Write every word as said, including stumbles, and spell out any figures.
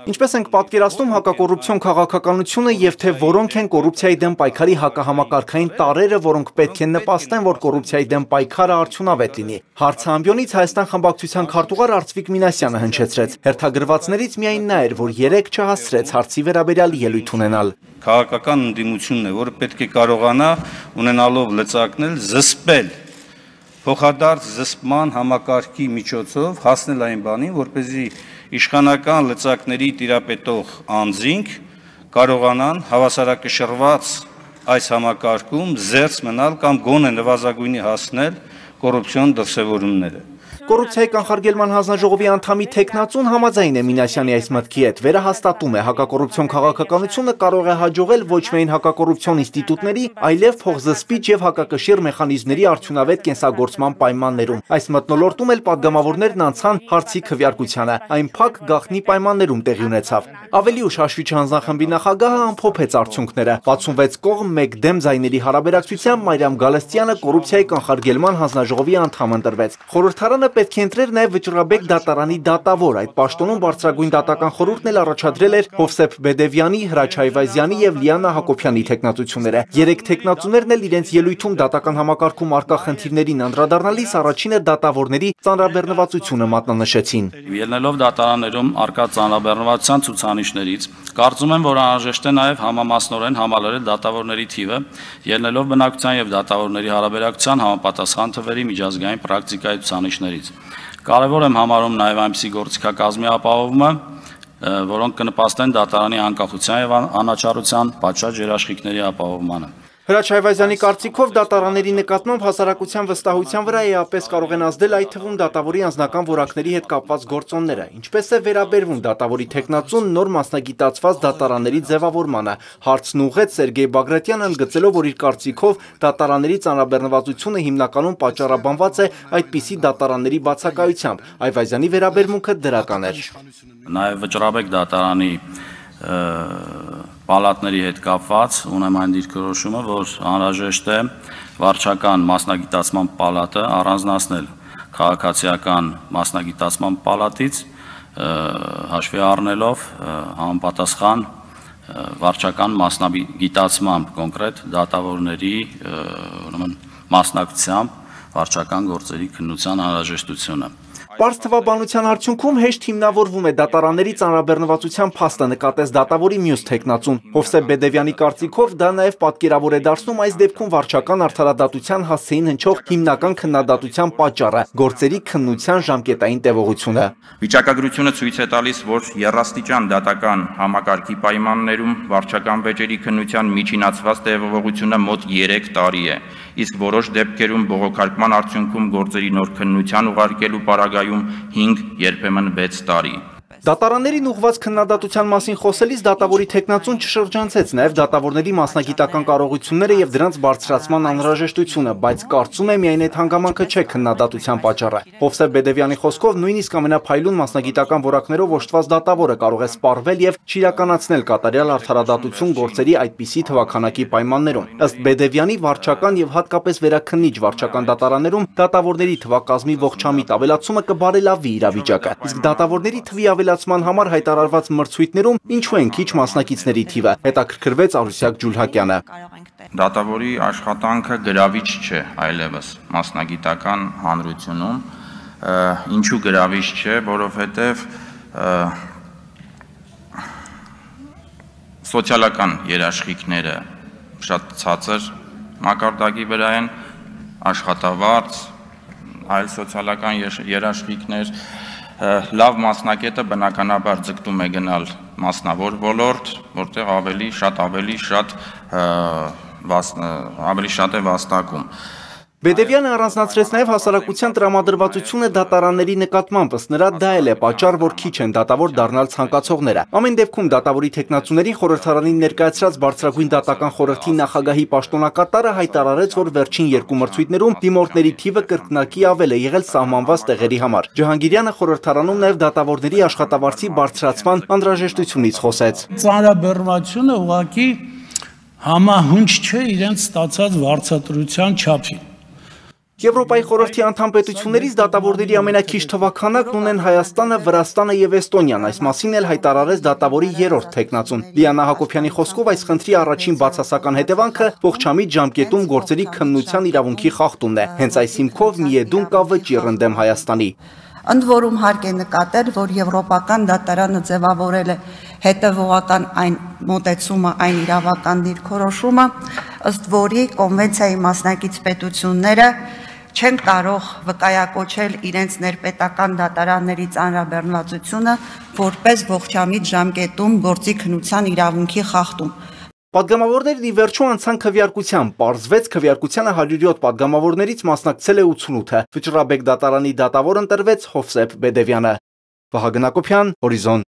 Ինչպես ենք պատկերացնում հակակոռուպցիոն քաղաքականությունը եւ թե որոնք են կոռուպցիայի դեմ պայքարի հակահամակարգային տարրերը, որոնք պետք է նպաստեն, որ կոռուպցիայի դեմ պայքարը արդյունավետ լինի։ Հարցը ամբիոնից Հայաստան խմբակցության քարտուղար Արծվիկ Մինասյանը հնչեցրեց։ Հերթագրվածներից միայն նա էր, որ երեք չհասցրեց հարցի վերաբերյալ ելույթ ունենալ։ Քաղաքական ընդդիմությունն է, որը պետք է կարողանա ունենալով լծակնել, զսպել փոխադարձ զսպման համակարգի միջոցով հասնել այն բանին, որպեսզի իշխանական լծակների տիրապետող անձինք կարողանան հավասարակշռված այս համակարգում զերծ մնալ կամ գոնե նվազագույնի հասնել կոռուպցիոն դրսևորումները։ Կոռուպցիայի կանխարգելման հանձնաժողովի անդամի թեկնածուն համաձայն է Մինասյանի այս մտքի հետ, վերահաստատում է հակակոռուպցիոն քաղաքականությունը կարող է հաջողել ոչ միայն հակակոռուպցիոն ինստիտուտների, այլև փոխզսպիչ եւ հակակշիռ մեխանիզմների արդյունավետ կենսագործման պայմաններում։ Այս մթնոլորտում էլ падգամավորներն անցան հարցի քվեարկությանը, այն փակ գաղտնի պայմաններում տեղի ունեցավ։ Ավելի ուշ հաշվի չհանձնախմբի նախագահը ամփոփեց արդյունքները։ վաթսունվեց կողմ մեկ դեմ ձայների հարաբերակցությամբ Մարիամ Գալստյանը կոռուպցիայի կանխարգելման հանձնաժողովի անդամ ընտրվեց։ Խորհրդարանը պետք է ընտրեր նաև Վճռաբեկ դատարանի դատավոր։ Այդ պաշտոնում բարձրագույն դատական խորհուրդն էլ առաջադրել էր Հովսեփ Բեդևյանի, Հրաչ Այվազյանի եւ Լիանա Հակոբյանի թեկնածությունները։ Երեք թեկնածուներն էլ իրենց ելույթում դատական համակարգում արկա խնդիրներին անդրադառնալիս առաջինը դատավորների ծանրաբեռնվածությունը մատնանշեցին։ Ելնելով դատարաններում արկա ծանրաբեռնվածության ցուցանիշներից, կարծում եմ, որ անհրաժեշտ է նաև համամասնորեն համալրել դատավորների թիվը, ելնելով բնակության եւ դատավորների հարաբերակցության համապատասխան թվերի միջազգային պրակտիկայի ցուցանիշներից։ Կարևոր եմ համարում նաև այնպիսի գործիքակազմի ապահովումը, որոնք կնպաստեն դատարանի անկախության եւ անաչառության պատշաճ երաշխիքների ապահովմանը։ Հրաչ Այվազյանի կարծիքով դատարանների նկատմամբ հասարակության վստահության վրա էապես կարող են ազդել այդ թվում դատավորի անձնական որակների հետ կապված գործոնները։ Ինչպես է վերաբերվում դատավորի թեկնածուն նոր մասնագիտացված դատարանների ձևավորմանը։ Հարցն ուղղեց Սերգեյ Բագրատյանը, ընդգծելով, որ իր կարծիքով դատարանների ծանրաբեռնվածությունը հիմնականում պատճառաբանված է այդպիսի դատարանների բացակայությամբ։ Այվազյանի վերաբերմունքը դրական էր։ Նաև Վճռաբեկ դատարանի պալատների հետ կապված ունեմ այն դիրքորոշումը, որ անհրաժեշտ է վարչական մասնագիտացման պալատը առանձնացնել քաղաքացիական մասնագիտացման պալատից, հաշվի առնելով համապատասխան վարչական մասնագիտացմամբ կոնկրետ դատավորների մասնակցությամբ վարչական գործերի քննության անհրաժեշտությունը։ Պարզ թվաբանության արդյունքում հեշտ հիմնավորվում է դատարանների ծանրաբեռնվածության փաստը, նկատեց դատավորի մյուս թեկնածուն։ Հովսեփ Բեդևյանի կարծիքով դա նաև պատկերավոր է դարձնում այս դեպքում վարչական արդարադատության հասցեին հնչող հիմնական քննադատության պատճառը՝ գործերի քննության ժամկետային տևողությունը։ Վիճակագրությունը ցույց է տալիս, որ եռաստիճան դատական համակարգի պայմաններում վարչական վեճերի քննության միջինացված տևողությունը մոտ երեք տարի է, իսկ որոշ դեպքերում բողոքարկման արդյունքում գործերի նոր քննության ուղարկելու պարագայում հինգ, երբեմն վեց տարի։ Դատարաններին ուղղված քննադատության մասին խոսելիս դատավորի թեկնածուն չշրջանցեց նաև դատավորների մասնագիտական կարողությունները եւ դրանց բարձրացման անհրաժեշտությունը, բայց կարծում է միայն այդ հանգամանքը չէ քննադատության պատճառը։ Հովսեփ Բեդևյանի խոսքով նույնիսկ ամենափայլուն մասնագիտական որակներով օժտված դատավորը կարող է սպառվել եւ չիրականացնել կատարյալ արդարադատություն գործերի այդպիսի թվաքանակի պայմաններում։ Ըստ Բեդևյանի վարչական եւ հատկապես վերաքննիչ վարչական դատարաններում դատավորների թվակազմի ողջամիտ ավելացումը կբարելավի իրավիճակը, իսկ դատավորների թվի ավելացման համար հայտարարված մրցույթներում ինչու են քիչ մասնակիցների թիվը, հետաքրքրվեց Արուսյակ Ջուլհակյանը։ Դատավորի աշխատանքը գրավիչ չէ այլևս մասնագիտական հանրությունում, ինչու գրավիչ չէ, որովհետև սոցիալական երաշխիքները շատ ցածր մակարդակի վրա են, աշխատավարձ, այլ սոցիալական երաշխիքներ, լավ մասնակետը բնականաբար ձգտում է գնալ մասնավոր ոլորտ, որտեղ ավելի շատ ավելի շատ ավելի շատ է վաստակում։ Բեդևյանը առանձնացրեց նաև հասարակության տրամադրվածությունը դատարանների նկատմամբ, ըստ նրա դա էլ է պատճառ, որ քիչ են դատավոր դառնալ ցանկացողները։ Ամեն դեպքում դատավորի թեկնածուներին խորհրդարանին ներկայացրած բարձրագույն դատական խորհրդի նախագահի պաշտոնակատարը հայտարարեց, որ վերջին երկու մրցույթներում դիմորդների թիվը կրկնակի ավել է եղել սահմանված տեղերի համար։ Ջհանգիրյանը խորհրդարանում նաև դատավորների աշխատավարձի բարձրացման անհրաժեշտությունից խոսեց։ Ծանրաբեռնվածությունը ուղղակի համահունչ չէ իրենց ստացած վարձատրության չափին։ Եվրոպայի խորհրդի անդամ պետություններից դատավորների ամենաքիչ թվաքանակն ունեն Հայաստանը, Վրաստանը եւ Էստոնիան, այս մասին էլ հայտարարեց դատավորի երրորդ թեկնածուն։ Լիանա Հակոբյանի խոսքով այս խնդրի առաջին բացասական հետևանքը ողջամիտ ժամկետում գործերի քննության իրավունքի խախտումն է։ Հենց այս հիմքով միեդուն կա վճիռ ընդդեմ Հայաստանի։ Ընդ որում հարկ է նկատել, որ Եվրոպական դատարանը ձևավորել է հետևողական այն մոտեցումը, այն իրավական դիրքորոշումը, ըստ որի կոնվենցիայի մասնակից պետությունները չեն կարող վկայակոչել իրենց ներպետական դատարանների ծանրաբեռնվածությունը որպես ողջամիտ ժամկետում գործի քննության իրավունքի խախտում։ Պատգամավորներն ի վերջո անցան քվեարկության, պարզվեց քվեարկությանը հարյուր յոթ պատգամավորներից մասնակցել է ութսունութը։ Վճռաբեկ դատարանի դատավոր ընտրվեց Հովսեփ Բեդևյանը։ Վահագն Հակոբյան, Հորիզոն։